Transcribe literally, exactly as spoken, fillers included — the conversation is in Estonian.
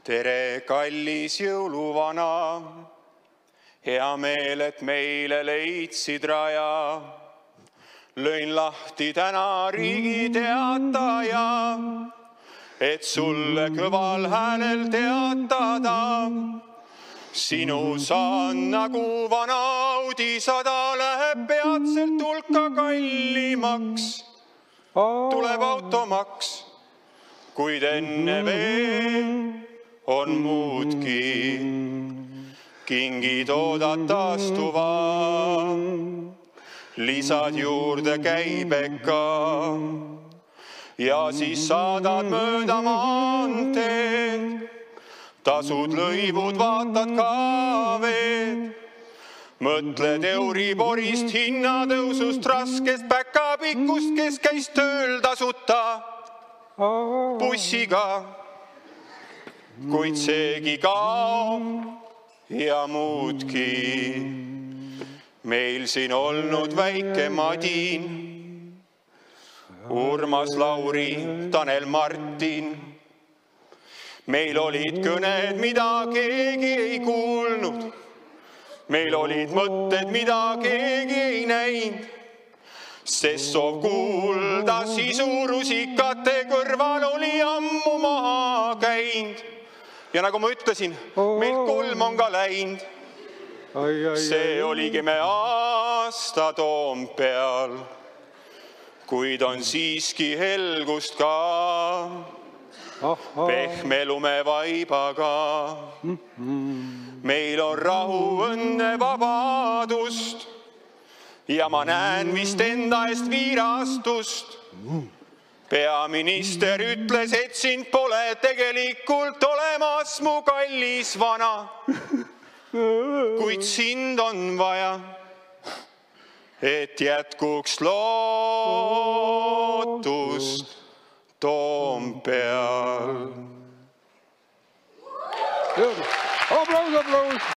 Tere, kallis jõuluvana, hea meel, et meile leidsid raja. Lõin lahti täna Riigi Teataja, et sulle kõval häälel teatada. Sinu saan nagu vana Audi sada läheb peatselt hulka kallimaks. Tuleb automaks, kuid enne veel on muudki. Kingid oodata astuva, lisad juurde käibeka ja siis saadad mööda maanteed. Tasud lõivud, vaatad ka veed. Mõtled Euriborist, hinnatõusust, raskest päkapikkust, kes käis tööl tasuta bussiga. Kuid seegi kaob ja muudki. Meil siin olnud väike Madin, Urmas, Lauri, Tanel, Martin. Meil olid kõned, mida keegi ei kuulnud. Meil olid mõtted, mida keegi ei näinud. Sest soov kuulda sisu rusikate kõrval oli ammu maha käinud. Ja nagu ma ütlesin, meil kolm on ka läinud. See oligi me aasta Toompeal, kuid on siiski helgust ka. Pehme lumevaibaga. Meil on rahu, õnne, vabadust ja ma näen vist enda eest viirastust. Peaminister ütles, et sind pole tegelikult olemas, mu kallis vana. Kuid sind on vaja, et jätkuks lootust Toompeal. Aplaus, aplaus!